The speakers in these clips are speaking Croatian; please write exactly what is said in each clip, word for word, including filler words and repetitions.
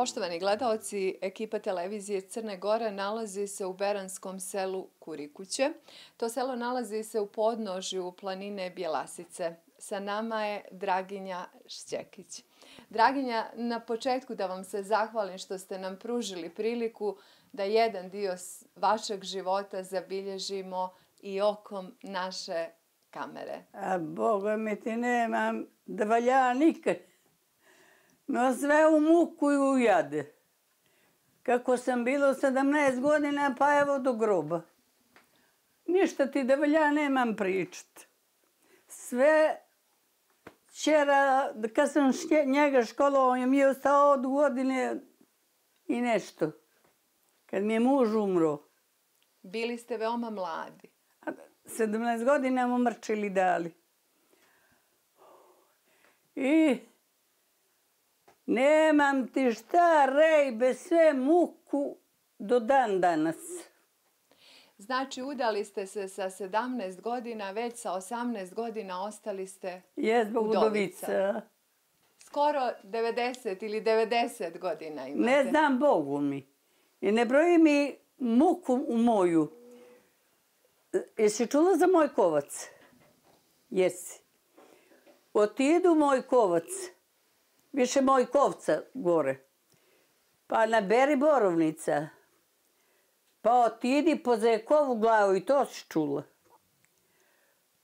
Poštovani gledaoci, ekipa televizije Crne Gore nalazi se u beranskom selu Kurikuće. To selo nalazi se u podnožju planine Bjelasice. Sa nama je Draginja Šćekić. Draginja, na početku da vam se zahvalim što ste nam pružili priliku da jedan dio vašeg života zabilježimo i okom naše kamere. A Boga mi ti nemam da valja nikad. No sve u muku i u jade. Kako sam bilo sedamnaest godina, pa evo do groba. Ništa ti da valja nemam pričat. Sve včera, kad sam njega školovao, je mi je ostao od godine i nešto. Kad mi je muž umro. Bili ste veoma mladi. sedamnaest godina mu mrčili dali. I nemam ti šta rej bez sve muku do dan danas. Znači, udali ste se sa sedamnaest godina, već sa osamnaest godina ostali ste Jezbog udovica. udovica. Skoro devedeset ili devedeset godina imate. Ne znam Bogu mi. I ne broji mi muku u moju. Jesi čula za moj kovac? Jesi. Otidu moj kovac. Više moj kovca gore. Pa naberi borovnica. Pa otidi po zekovu glavu i to si čula.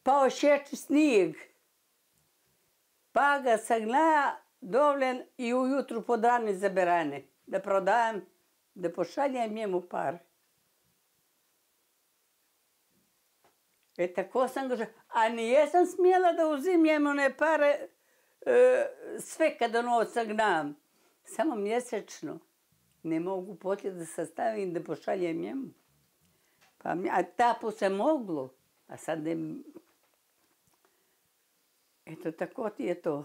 Pa ošeči snijeg. Pa ga sagna dovljen i ujutru podrani za berane. Da prodajem, da pošaljem njemu pare. E tako sam ga... A nijesam smjela da uzimjem one pare sve kada ono sagnam. Samo mjesečno. Ne mogu poslije da sastavim da pošaljem njemu. A tapu se moglo. A sad ne... Eto, tako ti je to.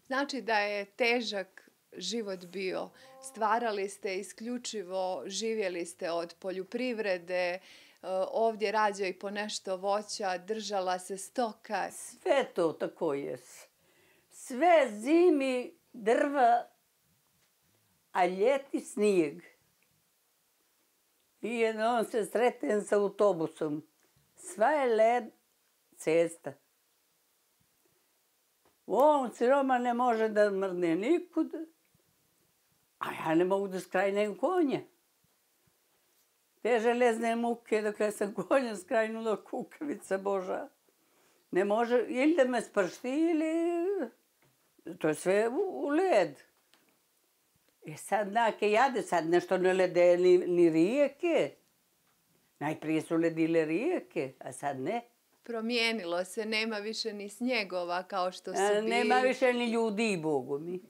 Znači da je težak život bio. Stvarali ste isključivo, živjeli ste od poljoprivrede, ovdje rađa i po nešto voća, držala se stoka. Sve to tako je. Sve zimi drva, a ljeti snijeg. I jednom se sretem sa autobusom. Sva je led cesta. U ovom siroma ne može da mrne nikud, a ja ne mogu da skrajnem konja. Te železne muke dok ja sam konja skrajnula, kukavica Boža. Ne može, ili da me spršti, ili... To je sve u led. E sad nake jade, sad nešto ne lede ni rijeke. Najprije su ledile rijeke, a sad ne. Promijenilo se, nema više ni snjegova kao što su bili. Nema više ni ljudi, Bogu mi.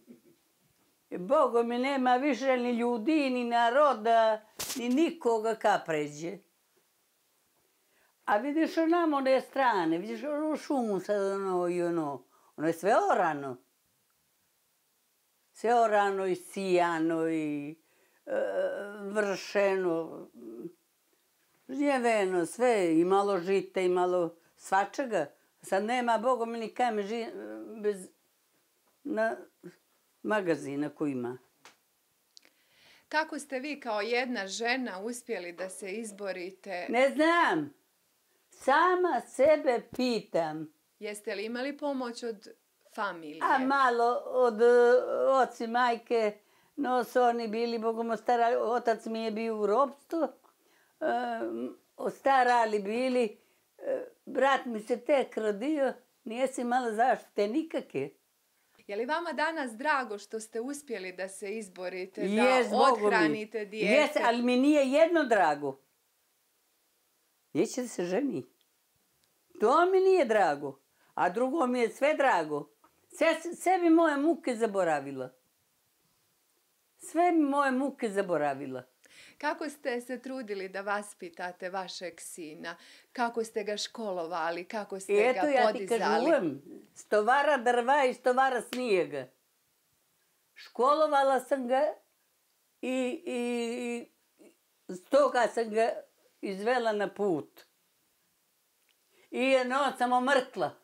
Bogu mi nema više ni ljudi, ni naroda, ni nikoga ka pređe. A vidiš onamo one strane, vidiš ono šumu sad ono i ono. Ono je sve orano. Sve orano i sijano i vršeno. Žnjeveno, sve. I malo žita i malo svačega. Sad nema, Boga mi ni kame bez magazina koji ima. Kako ste vi kao jedna žena uspjeli da se izborite? Ne znam. Sama sebe pitam. Jeste li imali pomoć od familije? A malo od oci, majke, no su oni bili, Bogom starali, otac mi je bio u ropstvu, ostarali bili, brat mi se tek rodio, nije si imala zaštite nikakve. Je li vama danas drago što ste uspjeli da se izborite, Jes, da othranite dijete? Jes, ali mi nije jedno drago. Neće da se ženi. To mi nije drago. A drugo mi je sve drago. Sve bi moje muke zaboravila. Sve bi moje muke zaboravila. Kako ste se trudili da vaspitate vašeg sina? Kako ste ga školovali? Kako ste ga podizali? Eto ja ti kažujem, stovara drva i stovara snijega. Školovala sam ga i stoga sam ga izvela na put. I jedno sam omrkla.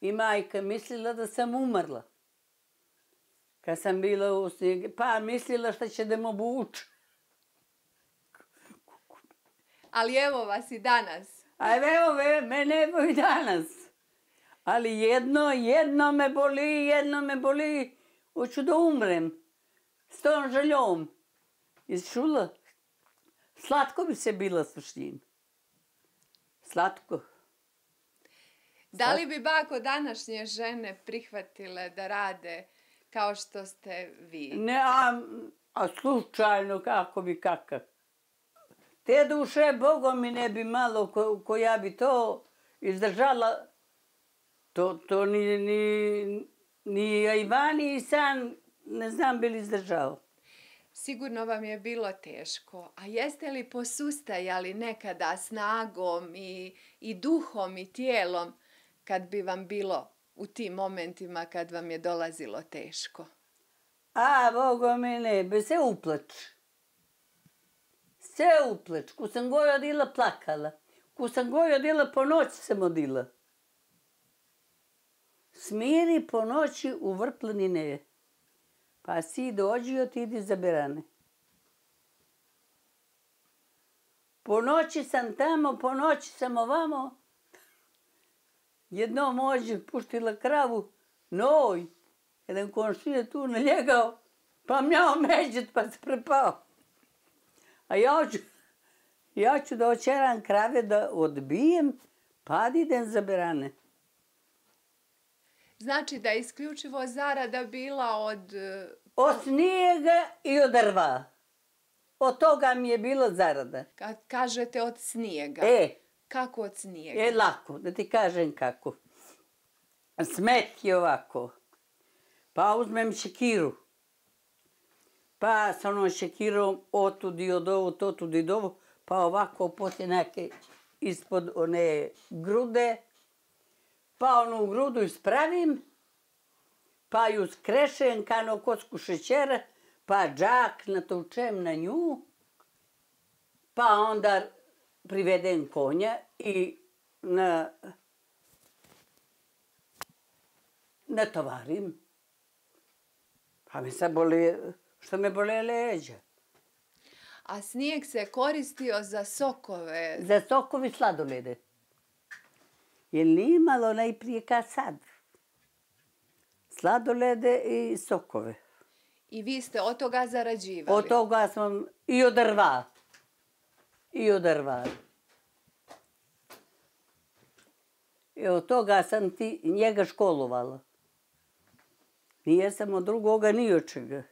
I majka mislila da sam umrla. Kad sam bila u snijegu, pa mislila šta će da me obuče. Ali evo vas i danas. A evo, mene evo i danas. Ali jedno, jedno me boli, jedno me boli. Hoću da umrem. S tom željom. Jesi čula? Slatko bi se bila s njim. Slatko. Da li bi bako današnje žene prihvatile da rade kao što ste vi? Ne, a, a slučajno kako bi kakav. Te duše, Bogom mi ne bi malo, ko, koja bi to izdržala, to, to ni, ni, ni Ivani i San, ne znam, bili izdržao. Sigurno vam je bilo teško. A jeste li posustajali nekada snagom i, i duhom i tijelom kad bi vam bilo u tim momentima kad vam je dolazilo teško? A, Bogo mi ne, be se uplač. Se uplač. Ko sam goj odila, plakala. Ko sam goj odila, po noći sam odila. Smiri po noći u vrplanine. Pa si dođi, otidi za berane. Po noći sam tamo, po noći sam ovamo. Jednom ođe puštila kravu, noj. Jedan komšija tu naljegao, pa mjao međet, pa se prepao. A ja ću, ja ću da očeram krave da odbijem, pa da idem za berane. Znači da je isključivo zarada bila od... Od snijega i od drva. Od toga mi je bilo zarada. Kad kažete od snijega. E. Kako od snijega? E, lako, da ti kažem kako. Smet je ovako. Pa uzmem šekiru. Pa sa onom šekirom otud i od ovo, totud i do ovo. Pa ovako poslije neke ispod one grude. Pa onu grudu ispravim. Pa ju skrešem kano kocku šećera. Pa džak natočem na nju. Pa onda privedem konja i na, natovarim. Pa mi sad boli, što me bole leđa. A snijeg se koristio za sokove? Za sokovi sladolede. Jer nije imalo najprije kad sad. Sladolede i sokove. I vi ste od toga zarađivali? Od toga sam i od drva. I od drva. I od toga sam ti njega školovala. Nije sam od drugoga ni od čega.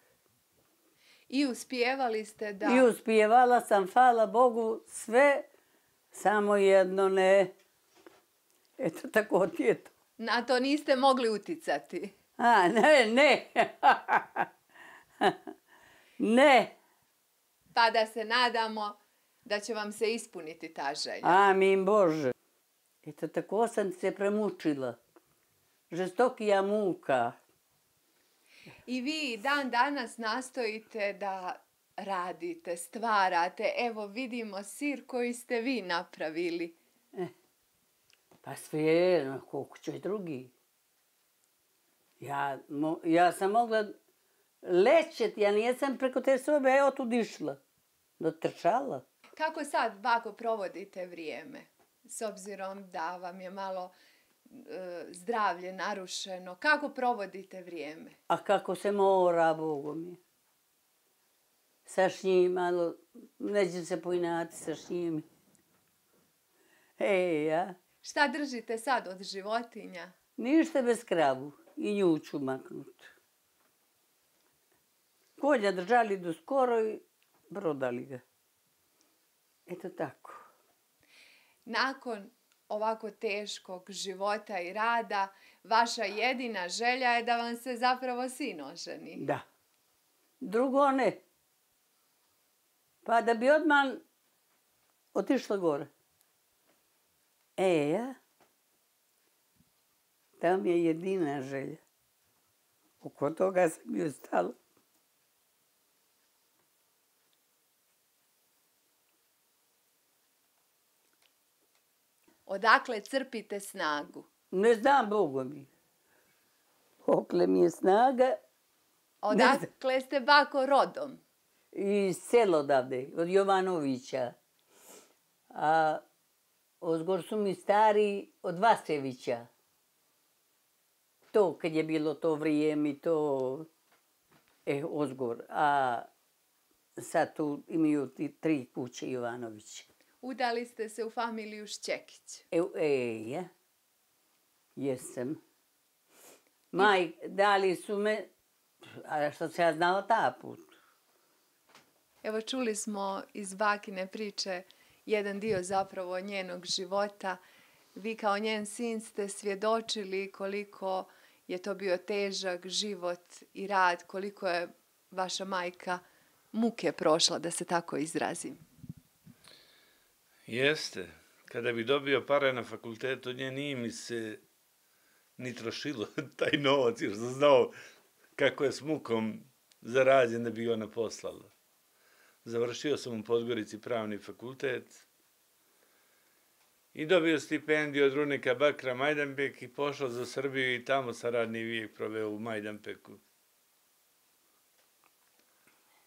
I uspijevali ste da... I uspijevala sam, hvala Bogu, sve, samo jedno ne. Eto, tako ti je to. Na to niste mogli uticati? A, ne, ne. Ne. Pa da se nadamo da će vam se ispuniti ta želja. Amin Bože. Eto, tako sam se premučila. Žestokija muka. I vi dan danas nastojite da radite, stvarate. Evo vidimo sir koji ste vi napravili. Eh, pa sve, koliko će i drugi. Ja, mo, ja sam mogla lećet, ja nijesam preko te sobe, evo tu išla. Dotrčala. Kako sad, bako, provodite vrijeme? S obzirom da vam je malo e, zdravlje narušeno. Kako provodite vrijeme? A kako se mora, Bogu mi. Sa šnjim malo, neću se pojnati sa šnjim. E, ja. Šta držite sad od životinja? Ništa bez kravu. I nju ću maknut. Kolja držali do skoro i prodali ga. Eto tako. Nakon ovako teškog života i rada, vaša jedina želja je da vam se zapravo sin oženi. Da. Drugo ne. Pa da bi odmah otišla gore. E, ja? To mi je jedina želja. Oko toga sam ju stala. Odakle crpite snagu? Ne znam, Bogu mi. Okle mi je snaga, Odakle ste bako rodom? Iz selo odavde, od Jovanovića. A ozgor su mi stari od Vasevića. To, kad je bilo to vrijeme, to... E, ozgor. A sad tu imaju ti tri kuće Jovanović. Udali ste se u familiju Šćekić. E, e, ja. Jesam. Maj, dali su me, a što se ja znala ta put. Evo čuli smo iz bakine priče jedan dio zapravo njenog života. Vi kao njen sin ste svjedočili koliko je to bio težak život i rad, koliko je vaša majka muke prošla, da se tako izrazim. Jeste. Kada bi dobio pare na fakultetu, nje nije mi se ni trošilo taj novac, jer sam znao kako je s mukom zarađen da bi ona poslala. Završio sam u Podgorici pravni fakultet i dobio stipendiju od Runika Bakra Majdanpek i pošao za Srbiju i tamo sam radni vijek proveo u Majdanpeku.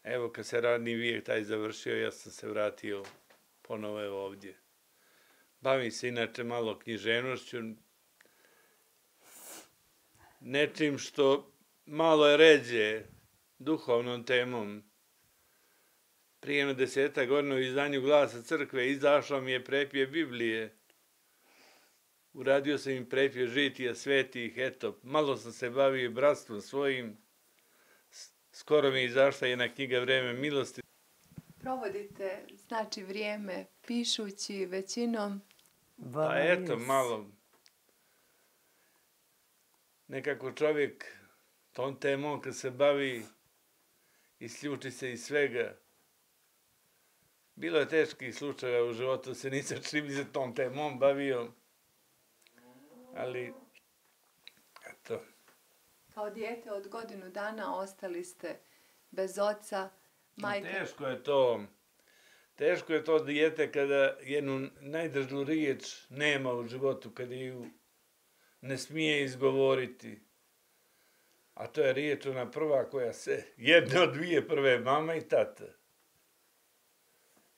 Evo, kad se radni vijek taj završio, ja sam se vratio ponovo evo ovdje. Bavim se inače malo književnošću, nečim što malo je ređe duhovnom temom. Prije jedno deseta godina u izdanju Glasa crkve izašla mi je prepje Biblije. Uradio sam im prepje žitija svetih, eto, malo sam se bavio i bratstvom svojim. Skoro mi je izašla jedna knjiga Vreme milosti. Provodite, znači, vrijeme pišući većinom? Pa eto, malo. Nekako čovjek tom temom kad se bavi, isključi se iz svega. Bilo je teških slučajeva u životu, se nisam čim se tom temom bavio, ali, eto. Kao dijete od godinu dana ostali ste bez oca, majka. Teško je to, teško je to dijete kada jednu najdržu riječ nema u životu, kada ju ne smije izgovoriti. A to je riječ ona prva koja se, jedna od dvije prve, mama i tata.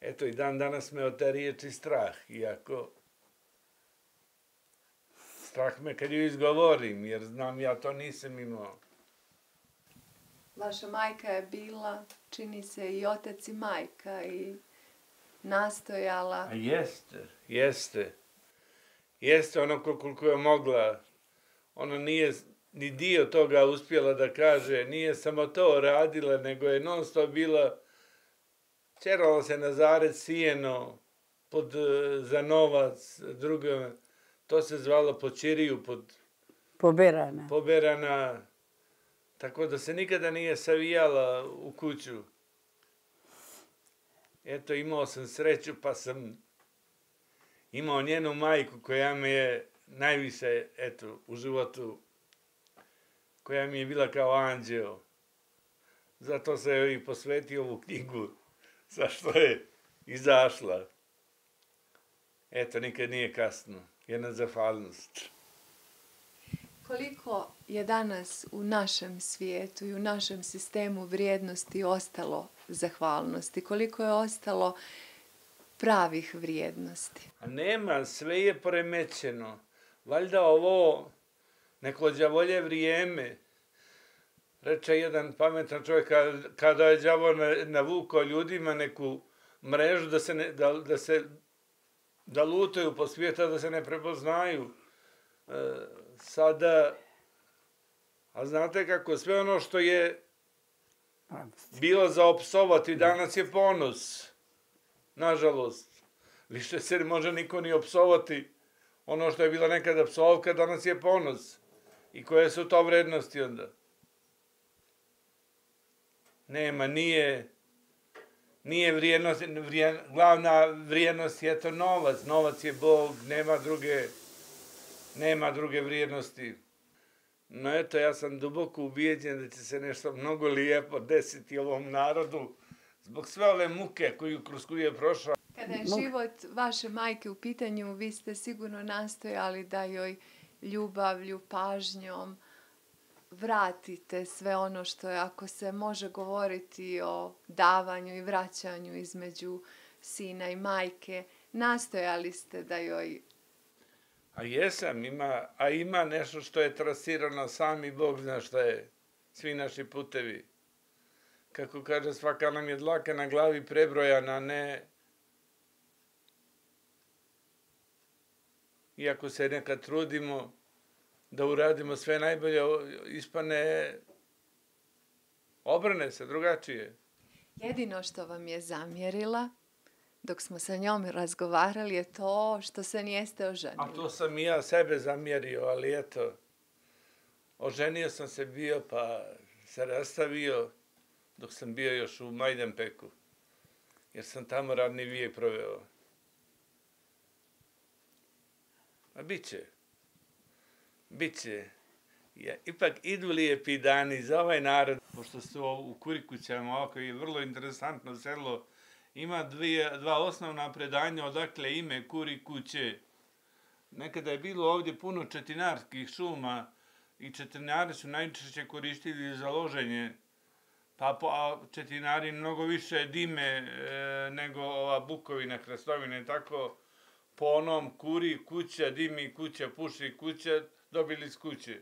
Eto, i dan danas me od te riječi strah, iako strah me kad ju izgovorim, jer znam ja to nisam imao. Vaša majka je bila, čini se, i otac i majka i nastojala. A jeste, jeste. Jeste ono koliko je mogla. Ona nije ni dio toga uspjela da kaže, nije samo to radila, nego je non stop bila. Čerala se na zarec sijeno, pod, za novac, drugo, to se zvalo po Čiriju, pod... Poberana. Poberana, tako da se nikada nije savijala u kuću. Eto, imao sam sreću, pa sam imao njenu majku koja me je najviše, eto, u životu, koja mi je bila kao anđeo. Zato sam joj i posvetio ovu knjigu. Zašto je izašla. Eto, nikad nije kasno. Jedna zahvalnost. Koliko je danas u našem svijetu i u našem sistemu vrijednosti ostalo zahvalnosti? Koliko je ostalo pravih vrijednosti? A nema, sve je poremećeno. Valjda ovo neko đavolje vrijeme. Reče jedan pametan čovjek, kada je đavo navukao ljudima neku mrežu da se, ne, da, da se da lutaju po svijetu, da se ne prepoznaju. E, sada, a znate kako, sve ono što je bilo za opsovati, danas je ponos. Nažalost, više se ne može niko ni opsovati. Ono što je bila nekada psovka, danas je ponos. I koje su to vrednosti onda? Nema, nije, nije vrijednost, vrijen, glavna vrijednost je to novac. Novac je Bog, nema druge, nema druge vrijednosti. No eto, ja sam duboko ubijeđen da će se nešto mnogo lijepo desiti ovom narodu zbog sve ove muke koju, kroz koju je prošla. Kada je život vaše majke u pitanju, vi ste sigurno nastojali da joj ljubavlju, pažnjom vratite sve ono što je, ako se može govoriti o davanju i vraćanju između sina i majke, nastojali ste da joj... A jesam, ima, a ima nešto što je trasirano, sami Bog zna šta je, svi naši putevi. Kako kaže, svaka nam je dlaka na glavi prebrojana, ne... Iako se nekad trudimo da uradimo sve najbolje, ispane, obrane se drugačije. Jedino što vam je zamjerila, dok smo sa njom razgovarali, je to što se nijeste oženili. A to sam i ja sebe zamjerio, ali eto, oženio sam se bio, pa se rastavio dok sam bio još u Majdanpeku, jer sam tamo radni vijek proveo. A bit će. Bit će. Ja, ipak idu lijepi dani za ovaj narod. Pošto su u Kurikućama, ovako je vrlo interesantno selo, ima dvije, dva osnovna predanja odakle ime Kurikuće. Nekada je bilo ovdje puno četinarskih šuma i četinari su najčešće koristili za loženje. Pa a četinari mnogo više dime e, nego ova bukovina, krastovina i tako. Po onom kuri kuća, dimi kuća, puši kuća, dobili iz kuće.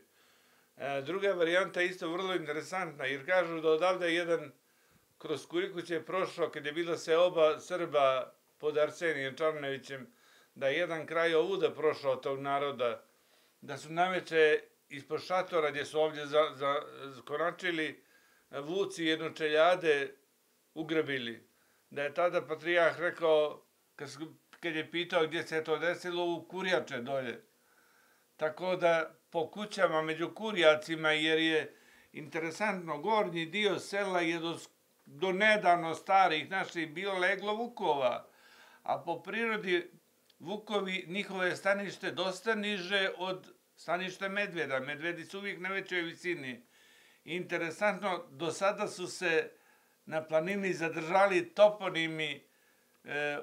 E, druga varijanta je isto vrlo interesantna, jer kažu da odavde jedan kroz Kurikuće je prošao, kad je bila se oba Srba pod Arsenijem Čarnevićem, da je jedan kraj ovuda prošao tog naroda, da su naveče ispod šatora gdje su ovdje za, za, konačili, vuci jednočeljade ugrabili. Da je tada patrijah rekao, kad su kad je pitao gdje se to desilo, u Kurjače dolje. Tako da po kućama među Kurjacima, jer je interesantno, gornji dio sela je do, do nedavno starih naših bilo leglo vukova, a po prirodi vukovi, njihove stanište dosta niže od staništa medveda. Medvedi su uvijek na većoj visini. Interesantno, do sada su se na planini zadržali toponimi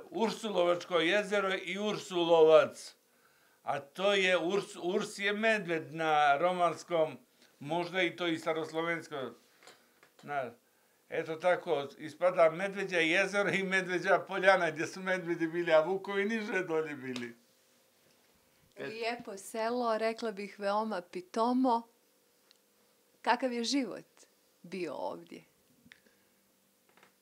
Ursulovačko jezero i Ursulovac, a to je, Urs, Urs je medved na romanskom, možda i to i staroslovensko. Na, eto tako, ispada Medveđa jezero i Medveđa poljana, gdje su medvedi bili, a vukovi niže dolje bili. Lijepo selo, rekla bih veoma pitomo. Kakav je život bio ovdje?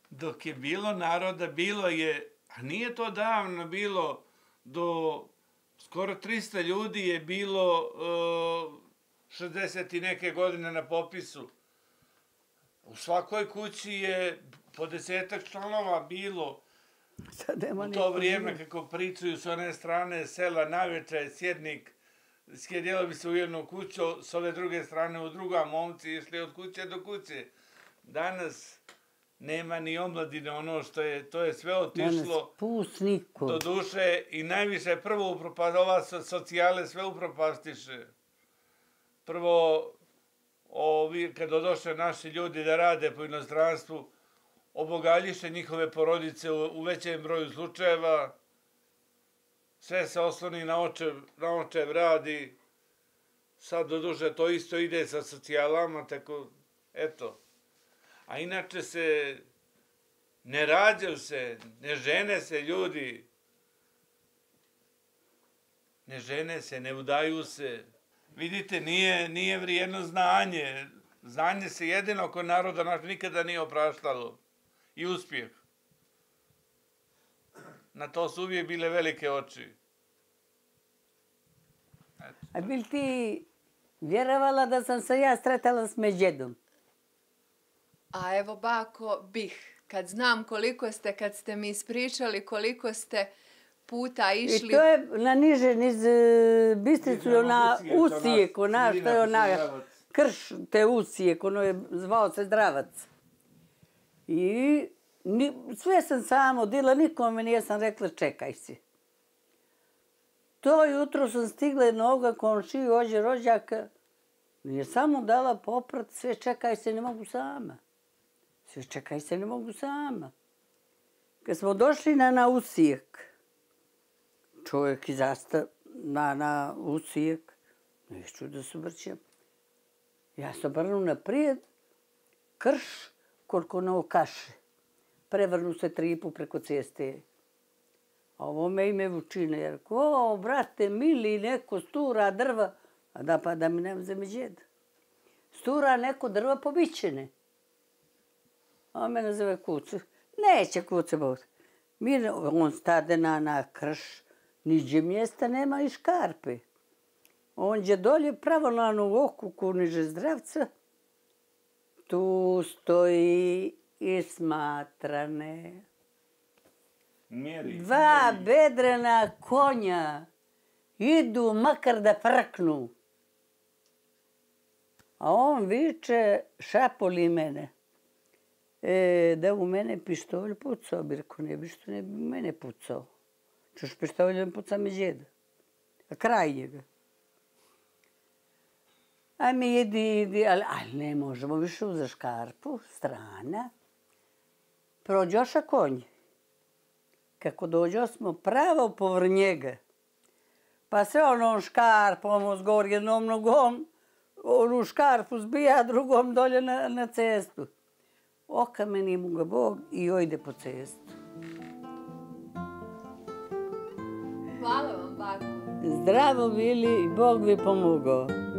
Dok je bilo naroda, bilo je, a nije to davno bilo, do skoro tristo ljudi je bilo uh, šezdeset i neke godine na popisu. U svakoj kući je po desetak članova bilo. U to vrijeme, kako pričaju s one strane sela, naveče sjednik, sjedjelo bi se u jednu kuću, s ove druge strane u druga, momci išli od kuće do kuće. Danas nema ni omladine, ono što je, to je sve otišlo. Do duše i najviše prvo upropast, ova socijale sve upropastiše. Prvo, ovi, kad odošle naši ljudi da rade po inostranstvu, obogaljiše njihove porodice u, u većem broju slučajeva, sve se osloni na očev, na očev radi, sad do duše to isto ide sa socijalama, tako, eto. A inače se, ne rađaju se, ne žene se ljudi, ne žene se, ne udaju se. Vidite, nije, nije vrijedno znanje. Znanje se jedino kod naroda naš nikada nije opraštalo. I uspjeh. Na to su uvijek bile velike oči. Eto. A bil ti vjerovala da sam se ja sretala s Međedom? A evo, bako, bih. Kad znam koliko ste, kad ste mi ispričali koliko ste puta išli... I to je na niže, niz Bistricu, na Usijek, ona, što je ona, krš te Usijek, ono je zvao se Zdravac. I ni, sve sam samo odila, nikome nijesam rekla čekaj si. To jutro sam stigla jednoga komšiju, ođe rođaka, nije samo dala poprat, sve čekaj se, ne mogu sama. Sve čekaj se, ne mogu sama. Kad smo došli na, na Usijek, čovjek izasta na, na Usijek, neću da se vrćem. Ja se obrnu naprijed, krš, koliko na kaše. Prevrnu se tripu preko ceste. A ovo me ime vučine, jer ko, brate, mili, neko stura drva, a da pa da mi ne uzeme džed. Stura neko drva pobićene. A on me nazove kucu. Neće kuce bot. On stade na, na krš, niđe mjesta nema i škarpe. On je dolje pravo na onu okuku niže zdravca. Tu stoji i smatrane. Mjeri, Dva mjeri. bedrena konja idu makar da frknu. A on viče, šapoli mene. E, da u mene pištolj pucao, bi rekao, ne bi što ne bi u mene pucao. Čuš pištoljem puca me džeda. A kraj njega. A mi idi, idi, ali, ali ne možemo više uza škarpu, strana. Prođoša konj. Kako dođo smo pravo povr njega. Pa sve onom škarpom zgor jednom nogom, onu škarpu zbija, drugom dolje na, na cestu. Okameni mu ga Bog i ojde po cestu. Hvala vam, bako. Zdravo bili i Bog vi pomogao.